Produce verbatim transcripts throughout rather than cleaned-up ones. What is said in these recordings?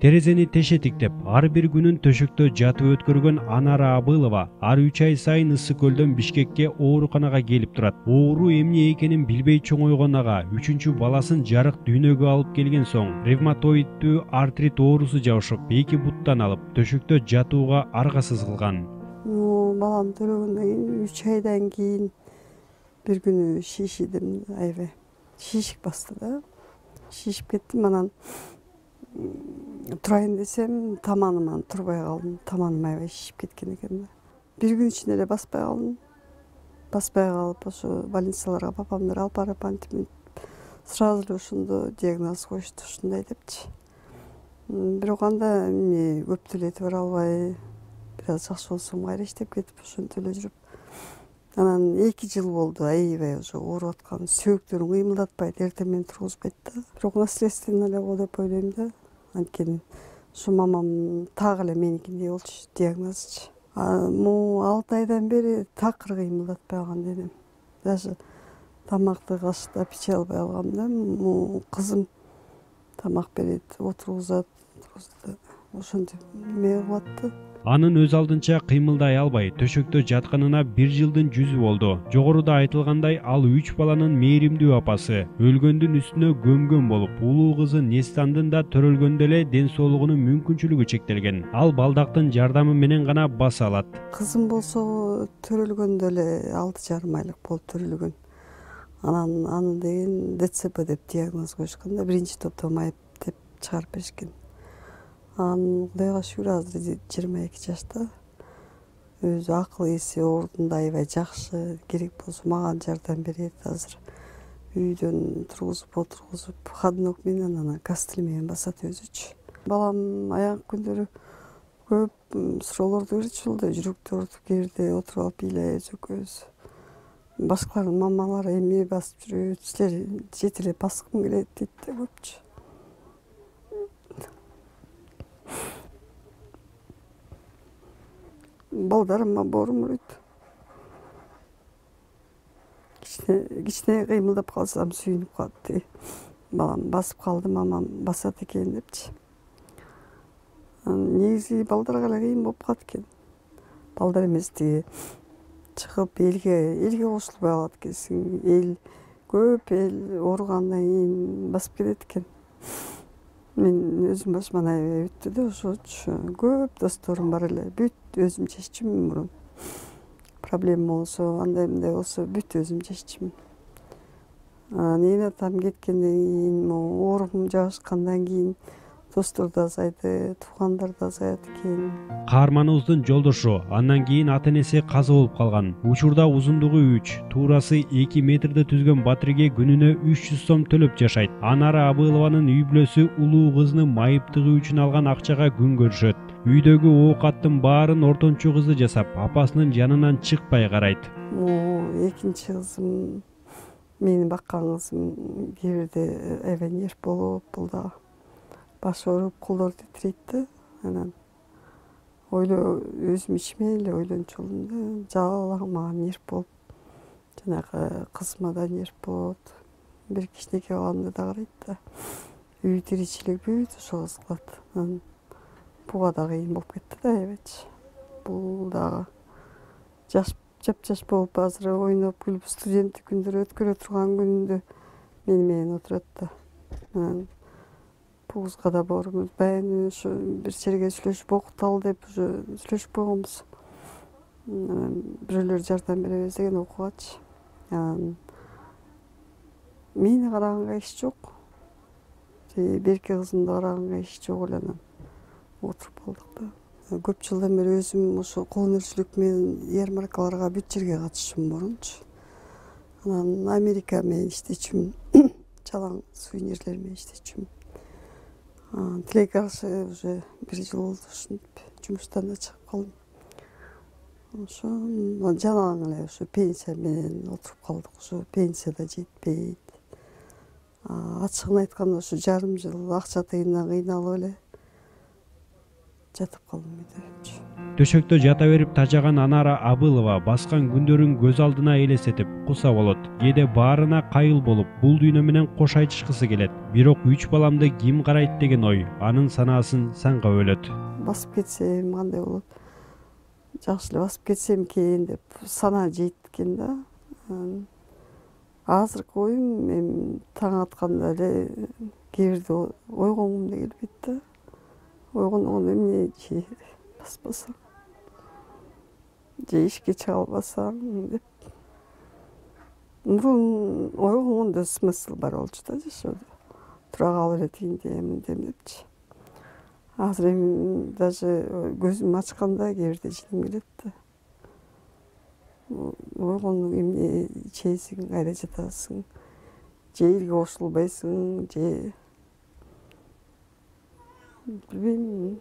Терезени тешетиктеп, ар бир күнүн төшөктө жатып өткөргөн Анара Абылова ар үч ай сайын Ысык көлдөн Бишкекке ооруканага келип турат. Оору эмне экенин билбей чоңойгон ага үчүнчү баласын жарык дүйнөгө алып келген соң ревматоиддүү артрит оорусу жабышып, эки буттан алып, төшөктө жатууга аргасыз кылган. Балам төрөгөндөн кийин үч айдан кийин бир күнү шишидим, аябай шишик басты да. Шишип кеттим, анан турайын десем, таманыман турбай калдым. Таманым аябай шишип кеткен экен да. Бир күн ичинде эле баспай калдым. Баспай калып, ошо больницаларга папамдыр алып барып, антип сразу эле ошондо диагноз коюшту, ушундай депчи. Бирок анда эмне көп деле этип бара албай, бир аз жакшы болсом кайра иштеп кетип, ошентип эле жүрүп. Анан эки жыл болду аябай уже ооруп аткан, сөөктөрүм кыймылдатпайт, эртең менен тургузбайт да. Бирок наследственно эле го деп ойлойм да. Анткени ушу мамам так эле меникиндей болчу, диагнозчу. Могу алты айдан бери такыр кыймылдатпай калган денем. Даже тамакты кашыктап иче албай калгам да. Могу кызым тамак берет, отургузат, ошентип эме кылып атты. Анын өз алдынча кыймылдай албай, төшөктө жатканына бир жылдын жүзү болду. Жогоруда айтылгандай, ал үч баланын мээримдүү апасы, өлгөндүн үстүнө көмгөн болуп, улуу кызы Нестандын да төрөлгөндө эле ден соолугунун мүмкүнчүлүгү чектелген. Ал балдактын жардамы менен гана баса алат. Кызым болсо төрөлгөндө эле алты жарым айлык болуп төрөлгөн. Анан аны деген ДЦП деп диагноз коюшкан да, биринчи топтогу майып деп чыгарып беришкен. Анан Кудайга шүгүр азыр жыйырма эки жашта. Өзү акыл эси ордунда, аябай жакшы, керек болсо мага жардам берет азыр. Үйдөн тургузуп отургузуп, ходунок менен анан кастель менен басат өзүчү. Балам аягы күндөрү көп суроолорду берчү, ушундай жүрөктү ооруп, кээ бирде отуруп алып ыйлайбыз экөөбүз. Башкалардын мамалары эмне басып жүрөт, силер жете эле баскым келет дейт да көпчү. Балдарыма боорум уройт. Кичине кыймылдап калсам сүйүнүп калат. Балам басып калды, мамам басат экен депчи. Негизи балдарга эле кыйын болуп калат экен. Балдар эмес тиги чыгып элге элге кошулбай калат экенсиң. Эл көп эл ооругандан кийин басып кетет экен. Мен өзүм башыман аябай өттү да ошочу. Көп досторум бар эле. Бүт өзүм чеччүмүн мурун. Проблема болсо, андай мындай болсо бүт өзүм чеччүмүн. Эне атам кеткенден кийин, могу оорум жабышкандан кийин достор да азайды, туугандар да азаят экен. Каарманыбыздын жолдошу андан кийин ата энеси каза болуп калган. Учурда узундугу үч, туурасы эки метрди түзгөн батирге күнүнө үч жүз сом төлөп жашайт. Анара Абылованын үй бүлөсү улуу кызынын майыптыгы үчүн алган акчага күн көрүшөт. Үйдөгү оокаттын баарын ортончу кызы жасап, апасынын жанынан чыкпай карайт. Экинчи кызым, мени баккан кызым кээ бирде аябай нерв болуп, бул да баш ооруп, колдор титирейт да. Анан ойлоо өзүм ичиме эле ойлончу болдум да. Жалал мага нерв болуп, жанагы кызыма да нерв болот. Бир кичинекей баламда да карайт да. Үй тиричилик бүт ошого кылат. Анан буга да кыйын болуп кетти да аябайчы. Бул дагы жаш жапжаш болуп азыр ойноп күлүп студенттик күндөрү өткөрө турган күнүндө мени менен отурат да. Анан бул кызга да боорум баягы ушу бир жерге сүйлөшүп окуталы деп уже сүйлөшүп койгонбуз. Бирөөлөр жардам беребиз деген окуугачы. Анан мени караганга эч жок. Берки кызымды караганга эч жок эле, анан отуруп калдык да. Көп жылдан бери өзүм ошо кол өнөрчүлүк менен ярмаркаларга бүт жерге катышчумун мурунчу. Анан Америка менен иштечүмүн, чалаң сувенирлер менен иштечүмүн. Тилек каршы уже бир жыл болду ушинтип жумуштан да чыгып калдым. Ошо жалаң эле ошо пенсия менен отуруп калдык. Ошо пенсия да жетпейт. Ачыгын айтканда ошо жарым жыл акча тыйындан кыйналып эле жатып калдым үйдө. Төшөктө жата берип тажаган Анара Абылова баскан күндөрүн көз алдына элестетип куса болот. Кээде баарына кайыл болуп, бул дүйнө менен кош айтышкысы келет. Бирок үч баламды ким карайт деген ой анын санаасын санга бөлөт. Басып кетсем кандай болот? Жакшы эле басып кетсем экен деп санаа жейт экен да. Азыркы оюм эми таң атканда эле кээ бирде ойгонгум да келбейт да. Ойгонгондо эмне жейт баспасаң, же ишке чыга албасаң деп. Мурун ойгонгондо смысл бар болчу да жашоодо. Тура калып эле тигинде эминдем депчи. Азыр эми даже көзүмдү ачканда кээ бирде жиним келет да. Ойгондуң эмне чейсиң, кайда жатасың, же элге кошулбайсың, же билбейм,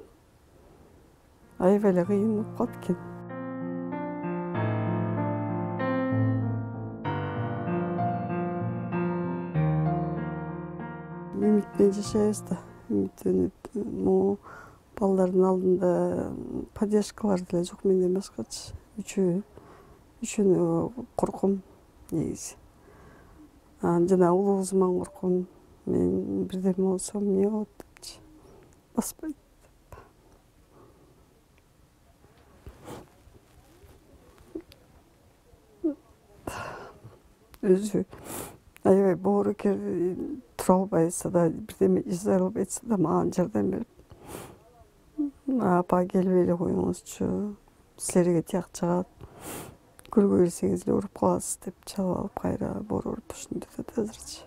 аябай эле кыйын болуп калат экен. Үмүтпен жашайбыз да, үмүттөнүп, могу балдардын алдында поддержкалар деле жок менден башкачы. Үчөө, үчөөнө корком негизи. Жана улуу кызыман корком. Мен бирдеме болсом эмне болот депчи. Баспайт деп. Өзү аябай боорукер, тура албайса да, бирдеме жасай албайса да мага жардам берип, апа келип эле коюңузчу, силерге тияк жагат, көлгө кирсеңиз эле уруп каласыз деп чалып алып кайра боор уруп ушинтип атат азырчы.